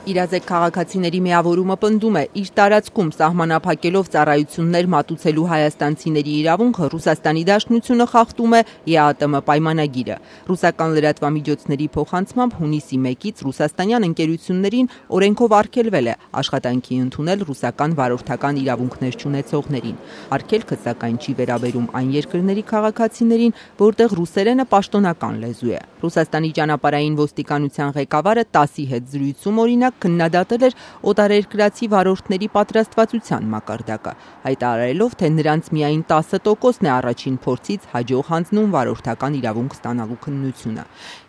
Իրազեկ քաղաքացիների միավորումը պնդում է, իր տարածքում սահմանափակելով ծառայություններ մատուցելու հայաստանցիների իրավունքը Ռուսաստանի Դաշնությունը խախտում է ԵԱՏՄ պայմանագիրը։ Ռուսական լրատվամիջոցների փոխանցմամբ հունիսի 1-ից ռուսաստանյան ընկերություններին օրենքով արգելվել է աշխատանքի ընդունել ռուսական վարորդական իրավունքներ չունեցողներին։ Արգելքը սակայն չի վերաբերում այն երկրների քաղաքացիներին, որտեղ ռուսերենը պաշտոնական լեզու է։ Ռուսաստանի ճանապարհային ոստիկանության ղեկավարը ՏԱՍ-ի հետ զրույցում օրինակ քննադատել էր օտարերկրացի վարորդների պատրաստվածության մակարդակը, հայտարարելով, թե նրանց միայն 10%-ն է առաջին փորձից հաջող հանձնում վարորդական իրավունք ստանալու քննությունը։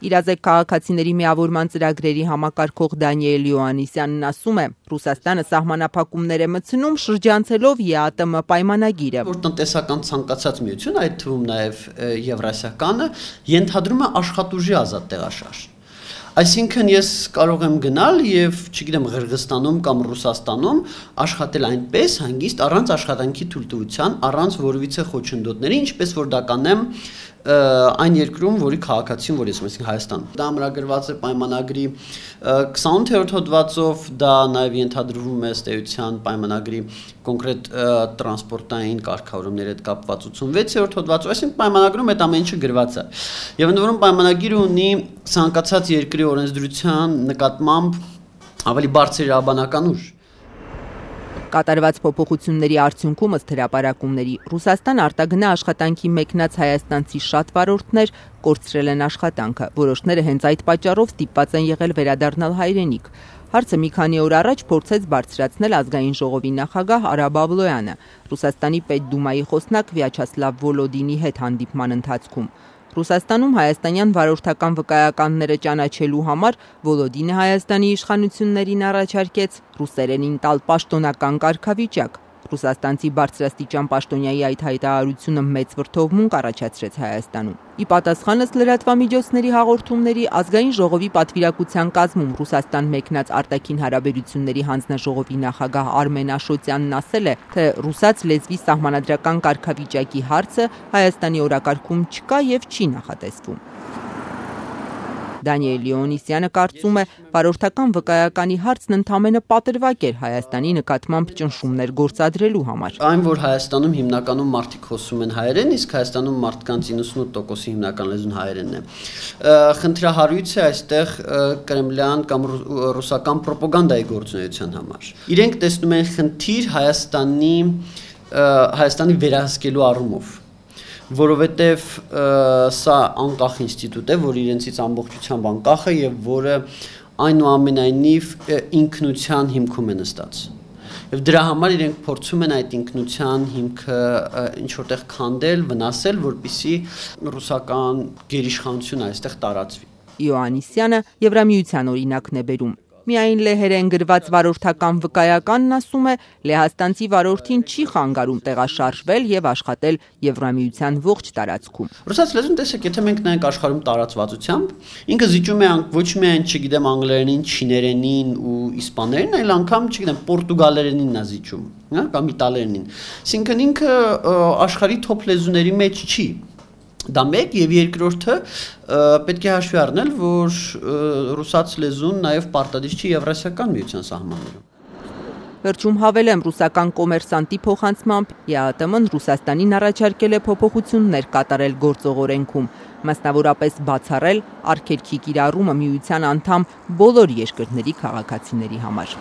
Իրազեկ քաղաքացիների միավորման ծրագրերի համակարգող Դանիել Յոհաննիսյանն ասում է, Ռուսաստանը սահմանափակումներ է մտցնում շրջանցելով ԵԱՏՄ պայմանագիրը, որ տնտեսական ցանկացած միություն, այդ թվում նաև Եվրասիականը, ենթադրում է աշխատուժի ազատ տեղաշարժ։ Այսինքն ես կարող եմ գնալ եւ, չգիտեմ, Ղրղստանում կամ Ռուսաստանում աշխատել այնպես հանգիստ առանց աշխատանքի թույլտվության, առանց որևիցե խոչընդոտների, ինչպես որ դա կանեմ այն երկրում, որի քաղաքացին, որ ես եմ, այսինքն Հայաստանում։ Դա ամրագրված է պայմանագրի 28-րդ հոդվածով, դա նաև ենթադրվում է ըստ էության պայմանագրի կոնկրետ տրանսպորտային կարգավորումների հետ կապված 86-րդ հոդվածով, այսինքն պայմանագրում այդ ամեն ինչը գրված է։ Եվ ընդ որում պայմանագիրը ունի ցանկացած երկրի օրենսդրության նկատմամբ ավելի բարձր իրավաբանական ուժ։ Կատարված փոփոխությունների արդյունքում ըստ հրապարակումների Ռուսաստան արտագնա աշխատանքի մեկնած հայաստանցի շատ վարորդներ կորցրել են աշխատանքը, որոշները հենց այդ պատճառով ստիպված են եղել վերադառնալ հայրենիք։ Հարցը մի քանի օր առաջ փորձեց բարձրացնել ազգային ժողովի նախագահ Արա Բաբլոյանը, Ռուսաստանի Պետդումայի խոսնակ Վյաչասլավ Վոլոդինի հետ հանդիպման ընթացքում։ Ռուսաստանում հայաստանյան վարորդական վկայականները ճանաչելու համար Վոլոդինը Հայաստանի իշխանություններին առաջարկեց ռուսերենին տալ պաշտոնական կարգավիճակ։ Ռուսաստանցի բարձրաստիճան պաշտոնյայի այդ հայտարարությունը մեծ վրդովմունք առաջացրեց Հայաստանում։ Ի պատասխան ըստ լրատվամիջոցների հաղորդումների ազգային ժողովի պատվիրակության կազմում Ռուսաստան մեկնած արտաքին հարաբերությունների հանձնաժողովի նախագահ Արմեն Աշոտյանն ասել է, թե ռուսաց լեզվի սահմանադրական կարգավիճակի հարցը Հայաստանի օրակարգում չկա եւ չի նախատեսվում։ Դանիել Յոհաննիսյանը կարծում է, վարորդական վկայականի հարցն ընդամենը պատրվակ էր Հայաստանի նկատմամբ ճնշումներ գործադրելու համար։ Այն, որ Հայաստանում հիմնականում մարդիկ խոսում են հայերեն, իսկ Հայաստանում մարդկանց 98%-ի հիմնական լեզուն հայերենն է։ Խնդրահարույց է այստեղ կրեմլյան կամ ռուսական ռոպագանդայի գործունեության համար։ Իրենք տեսնում են խնդիր Հայաստանի վերահսկելու առումով, որովհետև սա անկախ ինստիտուտ է, որ իրենցից ամբողջությամբ անկախ է եւ որը այնուամենայնիվ ինքնության հիմքում է նստած։ Եվ դրա համար իրենք փորձում են այդ ինքնության հիմքը ինչ որտեղ քանդել, վնասել, որպեսզի ռուսական գերիշխանությունը այստեղ տարածվի։ Յոհաննիսյանը Եվրամիության օրինակն է բերում։ Միայն լեհերեն գրված վարորդական վկայականն ասում է, լեհաստանցի վարորդին չի խանգարում տեղաշարժվել եւ աշխատել Եվրամիության ողջ տարածքում։ Ռուսաց լեզուն տեսեք, եթե մենք նայենք աշխարհում տարածվածությամբ, ինքը զիջում է ոչ միայն, չգիտեմ, անգլերենին, չիներենին ու իսպաներենին, այլ անգամ, չգիտեմ, պորտուգալերենին նա զիջում, հա, կամ իտալերենին։ Այսինքն ինքը աշխարհի թոփ լեզուների մեջ չի։ Դա մեկ եւ երկրորդը պետք է հաշվի առնել, որ ռուսաց լեզուն նաեւ պարտադիր չի Եվրասիական միության սահմաններում։ Վերջում հավելեմ, ռուսական կոմերսանտի փոխանցմամբ ԵԱՏՄ-ն Ռուսաստանին առաջարկել է փոփոխություններ կատարել գործող օրենքում, մասնավորապես բացառել արգելքի կիրառումը միության անդամ բոլոր երկրների քաղաքացիների համար։